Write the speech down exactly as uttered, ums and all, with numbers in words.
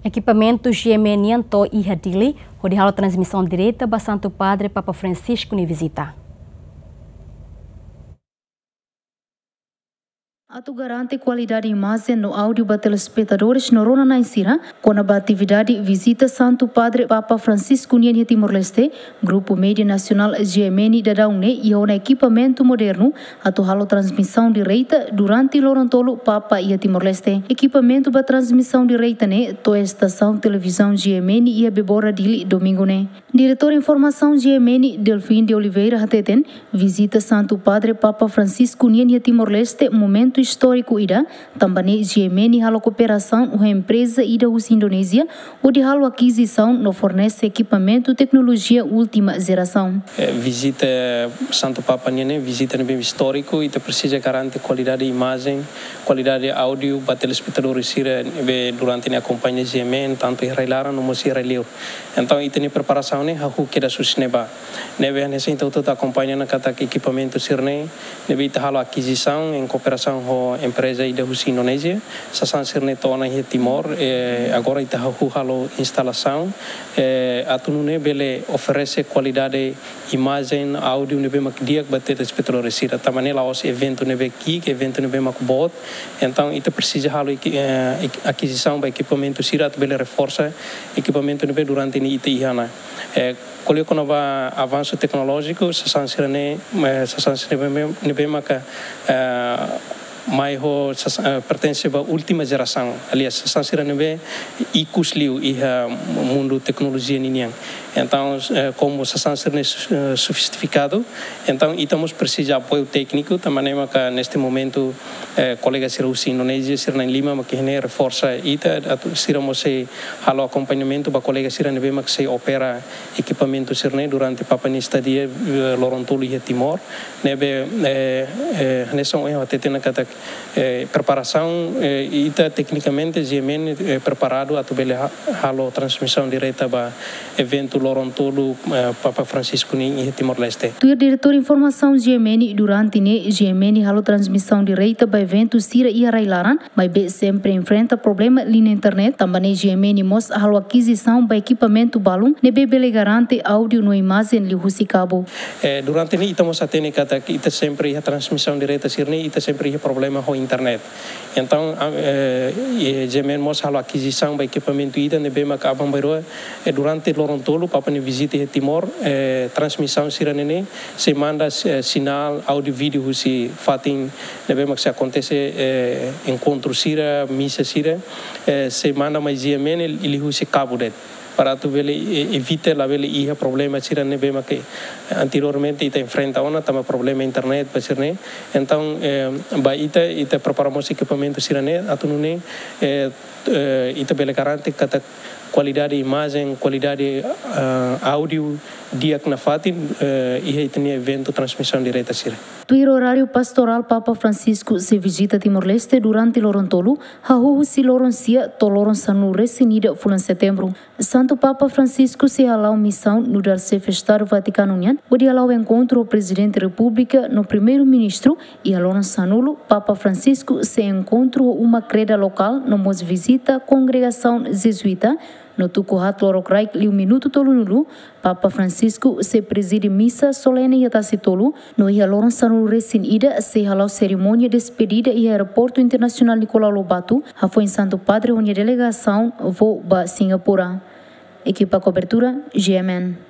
Ekipamentu GMN nian to'o iha Dili, hodi halo transmisaun direta ba Santu Padre Papa Francisco nia vizita. Atu garante kualidade imajen no áudiu ba telespetadores no rona-na'in sira, kona-ba atividade vizita Santu Padre Papa Francisco nian iha Timor-Leste, Grupu Média Nasionál GMN daudaun ne'e iha ona ekipamentu modernu atu halo transmisaun direta durante loron tolu Papa iha Timor-Leste. Ekipamentu ba transmisaun direta ne'e to'o estasaun televizaun GMN iha Bebora, Dili, domingu ne'e. Diretór Informasaun GMN, Delfim de Oliveira, hateten, vizita Santu Padre Papa Francisco nian iha Timor-Leste momentu istóriku ida, tanba ne'e GMN halo kooperasaun ho empreza ida husi Indonézia, hodi halo akizisaun no fornese ekipamentu teknolojia última jerasaun. Eh, vizita Santu Papa nian ne'e, vizita ne'ebé istóriku, ita presiza garante kualidade imajen, kualidade áudiu ba telespetadores sira ne'ebé durante ne'e akompaña GMN, tantu iha rai-laran no mós iha rai-liur. Entaun, ita-nia preparasaun ne'e hahú kedas husi ne'ebá. Ne'ebé hanesan ita hotu-hotu akompaña ona katak ekipamentu sira-ne'e, ne'ebé ita halo akizisaun em kooperasaun ho empreza ida husi Indonézia, sasán sira-ne'e to'o ona iha Timor, eh, agora ita hahú halo instalasaun, eh, atu nune'e bele oferese kualidade imajen, áudiu ne'ebé mak di'ak ba telespetadores sira. Tanba ne'e la'ós eventu ne'ebé ki'ik, eventu ne'ebé mak boot. Entaun, ita presiza halo eki-, eh, ek-, akizisaun ba ekipamentu sira atu bele reforsa ekipamentu ne'ebé durante ne'e ita iha ona. Eh, ko'alia kona-ba avansu teknolójiku, sasán sira-ne'e, eh, sasán sira ne'ebé, ne'ebé maka, eh, mai ho sas-, eh, pertense ba última jerasaun. Aliás, sasán sira ne'ebé ikus liu iha mundu teknolojia ninian. Entaun, eh, komu sasán sira-ne'e su-, eh, sofistifikadu, entaun ita mós presiza apoiu tékniku, tanba ne'e maka neste momentu, eh, kolega sira husi Indonézia, sira na'in lima mak iha ne'e reforsa ita, atu sira mós sei halo akompañamentu ba kolega sira ne'ebé mak sei opera ekipamentu sira-ne'e durante Papa nia estadia, eh, loron tolu iha Timor. Ne'ebé, eh, eh, hanesan ohin ha'u hateten ona katak, eh, preparasaun, eh, ita teknikamente GMN, eh, preparadu atu bele ha-, halo transmisaun direta ba eventu loron tolu, eh, Papa Francisco nian iha Timor-Leste. Tuir Diretór Informasaun GMN, durante ne'e GMN halo transmisaun direta ba eventu sira iha rai-laran, maibé sempre enfrenta problema liña internet, tanba ne'e GMN mós halo akizisaun ba ekipamentu balun ne'ebé bele garante áudiu no imajen liuhusi kabu. Eh, durante ne'e ita mós hatene katak ita sempre iha transmisaun direta sira-ne'e, ita sempre iha problema ho internet. Entaun, a, eh, eh, GMN mós halo akizisaun ba ekipamentu ida ne'ebé maka aban-bainrua, eh, durante loron tolu Papa nia vizita iha Timor, eh, transmisaun sira-ne'e ne'e sei manda, eh, sinál áudiu vídeu husi fatin ne'ebé mak sei akontese, eh, enkontru sira, misa sira, eh, sei manda mai GMN liuhusi kabu de'it, para atu bele, eh, evita labele iha problema sira ne'ebé mak, eh, anteriormente ita enfrenta ona, tanba problema internet ba sira-ne'e. Entaun, eh, ba ita, ita prepara mós ekipamentu sira-ne'e atu nune'e, eh, eh, ita bele garante katak kualidade imajen, kualidade, ah, áudiu di'ak nafatin, eh, iha ita-nia eventu transmisaun direta sira. Tuir oráriu pastorál, Papa Francisco sei vizita Timor-Leste durante loron tolu, hahú husi loron sia to'o loron sanulu-resin-ida fulan Setembru. Santu Papa Francisco sei hala'o misaun nu'udar Xefe Estadu Vatikanu nian, hodi hala'o enkontru ho Prezidente Repúblika no Primeiru-Ministru, iha loron sanulu, Papa Francisco sei enkontru ho uma kreda lokál no mós vizita kongregasaun Jezuíta, no tuku haat lorokraik liu minutu tolunulu, Papa Francisco sei prezide misa solene iha Tasitolu, no iha loron sanulu-resin-ida sei hala'o serimónia despedida iha Aeroportu Internasionál Nicolau Lobato, hafoin Santu Padre ho nia delegasaun voo ba Singapura. Ekipa kobertura, GMN.